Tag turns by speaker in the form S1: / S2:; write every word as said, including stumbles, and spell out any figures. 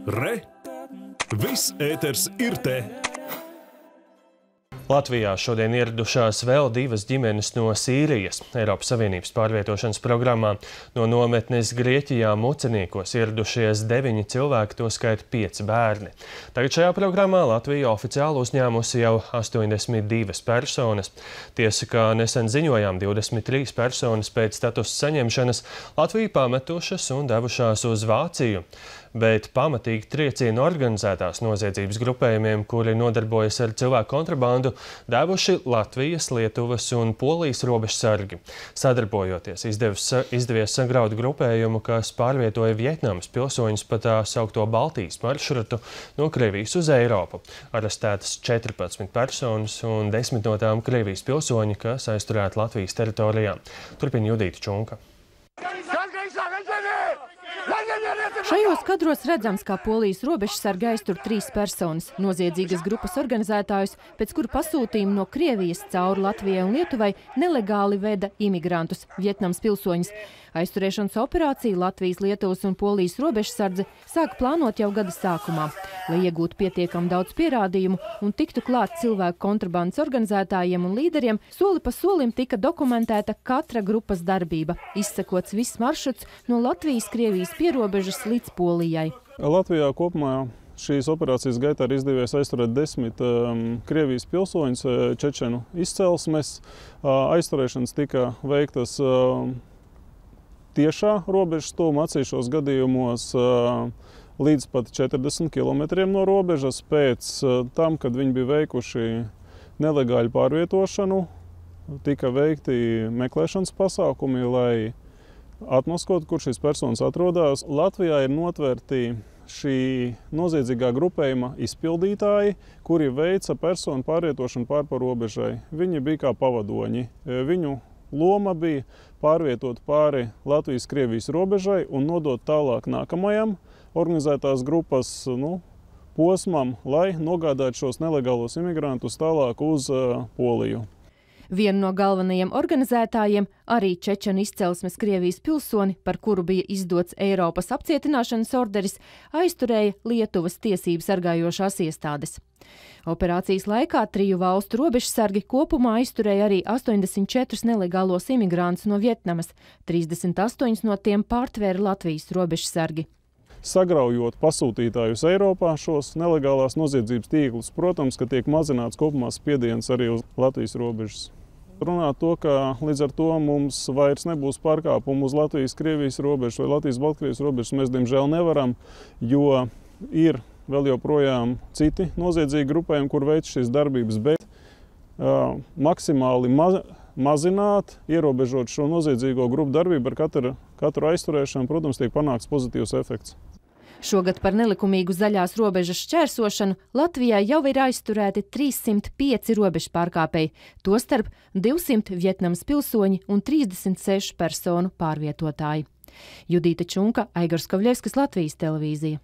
S1: Re! Viss ēters ir te!
S2: Latvijā šodien ieradušās vēl divas ģimenes no Sīrijas. Eiropas Savienības pārvietošanas programmā no nometnes Grieķijā Muceniekos ieradušies deviņi cilvēki, to skaita pieci bērni. Tagad šajā programmā Latvija oficiāli uzņēmusi jau astoņdesmit divas personas. Tiesa, kā nesen ziņojām, divdesmit trīs personas pēc statusa saņemšanas Latviju pametušas un devušās uz Vāciju. Bet pamatīgi triecienu organizētās noziedzības grupējumiem, kuri nodarbojas ar cilvēku kontrabandu, devuši Latvijas, Lietuvas un Polijas robežsargi. Sadarbojoties, izdevis, izdevies sagraut grupējumu, kas pārvietoja Vietnamas pilsoņus pa tā saukto Baltijas maršrutu no Krievijas uz Eiropu. Arestētas četrpadsmit personas un desmit no tām Krievijas pilsoņi, kas aizturēti Latvijas teritorijā. Turpina Judīta Čunka.
S3: Šajos kadros redzams, kā Polijas robežsargi aiztur trīs personas – noziedzīgas grupas organizētājus, pēc kuru pasūtījumu no Krievijas cauri Latvijai un Lietuvai nelegāli veda imigrantus, Vietnamas pilsoņus. Aizturēšanas operāciju Latvijas, Lietuvas un Polijas robežsardze sāka plānot jau gada sākumā, lai iegūtu pietiekami daudz pierādījumu un tiktu klāt cilvēku kontrabandas organizētājiem un līderiem. Soli pa solim tika dokumentēta katra grupas darbība, izsekots viss maršruts no Latvijas-Krievijas pierobežas līdz Polijai.
S4: Latvijā kopumā šīs operācijas gaitā ir izdevies aizturēt desmit um, Krievijas pilsoņus čečenu izcelsmes. Uh, aizturēšanas tika veiktas uh, tiešā robežas tuvuma, atsevišķos gadījumos uh, līdz pat četrdesmit kilometriem no robežas. Pēc uh, tam, kad viņi bija veikuši nelegāļu pārvietošanu, tika veikti meklēšanas pasākumi, lai atmaskot, kur šīs personas atrodas. Latvijā ir notvērti šī noziedzīgā grupējuma izpildītāji, kuri veica personu pārvietošanu pār pa robežai. Viņi bija kā pavadoņi. Viņu loma bija pārvietot pāri Latvijas-Krievijas robežai un nodot tālāk nākamajam organizētās grupas nu, posmam, lai nogādātu šos nelegālos imigrantus tālāk uz uh, Poliju.
S3: Vienu no galvenajiem organizētājiem, arī čečenu izcelsmes Krievijas pilsoni, par kuru bija izdots Eiropas apcietināšanas orderis, aizturēja Lietuvas tiesību sargājošās iestādes. Operācijas laikā triju valstu robežsargi kopumā aizturēja arī astoņdesmit četrus nelegālos imigrantus no Vietnamas, trīsdesmit astoņus no tiem pārtvēra Latvijas robežsargi.
S4: Sagraujot pasūtītājus Eiropā šos nelegālās noziedzības tīklus, protams, ka tiek mazināts kopumā spiediens arī uz Latvijas robežas. Runāt to, ka līdz ar to mums vairs nebūs pārkāpumu uz Latvijas-Krievijas robežas vai Latvijas-Baltkrievijas robežas, mēs diemžēl nevaram, jo ir vēl joprojām citi noziedzīgi grupējumi, kur veic šīs darbības, bet uh, maksimāli ma mazināt, ierobežot šo noziedzīgo grupu darbību ar katru, katru aizturēšanu, protams, tiek panākts pozitīvs efekts.
S3: Šogad par nelikumīgu zaļās robežas šķērsošanu Latvijā jau ir aizturēti trīssimt pieci robežu pārkāpēji, tostarp divsimt Vietnamas pilsoņi un trīsdesmit seši personu pārvietotāji. Judīta Čunka, Aigars Kavļevskis, Latvijas televīzija.